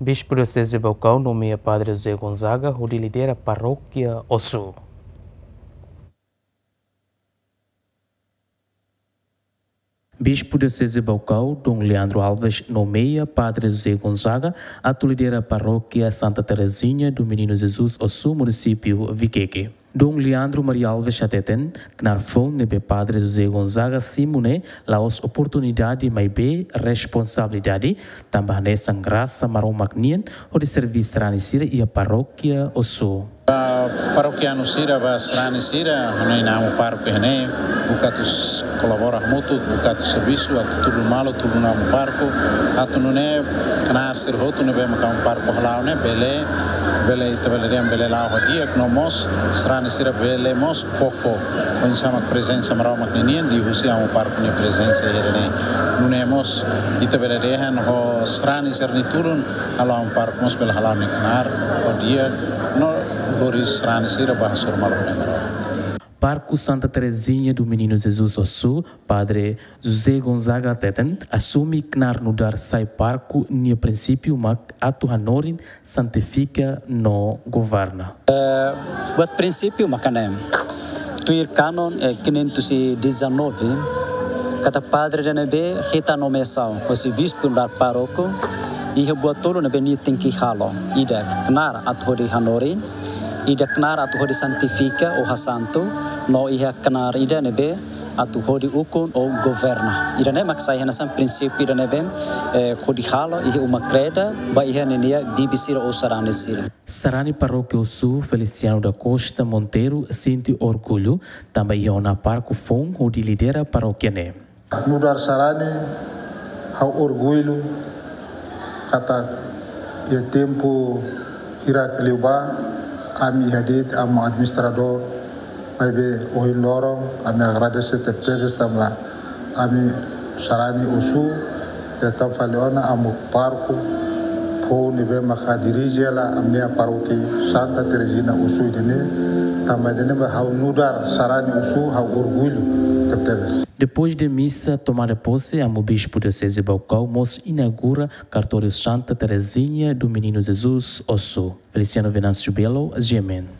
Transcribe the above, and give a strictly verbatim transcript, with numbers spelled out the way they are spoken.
Bispu Dioseze Baucau nomeia Padre José Gonzaga hodi lidera Parókia Ossu. Bispu Dioseze Baucau, Dom Leandro Alves, nomeia Padre José Gonzaga atu lidera Parókia Santa Terezinha do Menino Jesus Ossu, munisípiu Viqueque. Dom Leandro Maria Alves hateten, knaar foun ne'ebé Padre José Gonzaga simu ne'e la'ós oportunidade maibé responsabilidade, tanba hanesan grasa Maromak nian hodi serví sarani sira iha Parókia Ossu. Ba parókianu sira, ba sarani sira, hanoin amu pároku ne'e, buka atu s-, kolabora hamutuk, buka atu servisu, atu tulun malu, tulun amu pároku, atu nune'e knaar sira hotu ne'ebé maka amu pároku hala'o ne'e, bele, bele ita bele dehan bele la'o ho di'ak, no mós sarani sira bele mós koko, oinsá mak prezensa Maromak ninian, liuhusi amu pároku nia prezensa iha ne'e. Nune'e mós ita bele dehan ho sarani sira-nia tulun, halo amu pároku mós bele hala'o nia knaar ho di'ak, no lori sarani sira ba hasoru malu ho Maromak. Pároku Santa Terezinha do Menino Jesus Ossu, Padre José Gonzaga hateten, asume knaar nu'udar sai pároku nia prinsípiu mak atu hanorin, santifika no governa. Eh, buat prinsípiu maka ne'e. Tuir kanun, eh, quinhentos e dezanove, kada padre ida ne'ebé hetan nomeasaun hosi bispu nu'udar pároku, iha buat tolu ne'ebé nia tenke halo. Ida knaar atu hodi hanorin, ida knaar atu hodi santifika ou hasantu, no iha knaar ida ne'ebé atu hodi ukun ou governa. Ida-ne'e mak sai hanesan prinsípiu ida ne'ebé, eh, hodi halo iha uma kreda, ba iha ninia bibi sira ou sarani sira. Sarani Parókia Ossu, Feliciano da Costa Monteiro, sente orgullu, tanba iha ona pároku foun hodi lidera parókia ne'e. Nu'udar sarani, ha'u orgullu katak iha tempu hirak liubá, ami iha de'it amu administradór, maibé ohin loron, ami agradese tebetebes tanba ami sarani Ossu, entaun fali ona amu pároku foun ne'ebé maka dirije hela ami-nia parókia Santa Terezinha Ossu ida-ne'e, tanba ida-ne'e ba ha'u nu'udar sarani Ossu, ha'u orgullu tebetebes. Depois de misa tomada posse, amu bispu Dioseze Baucau mós inaugura kartóriu Santa Terezinha do Menino Jesus Ossu. Feliciano Venâncio Belo, G M N.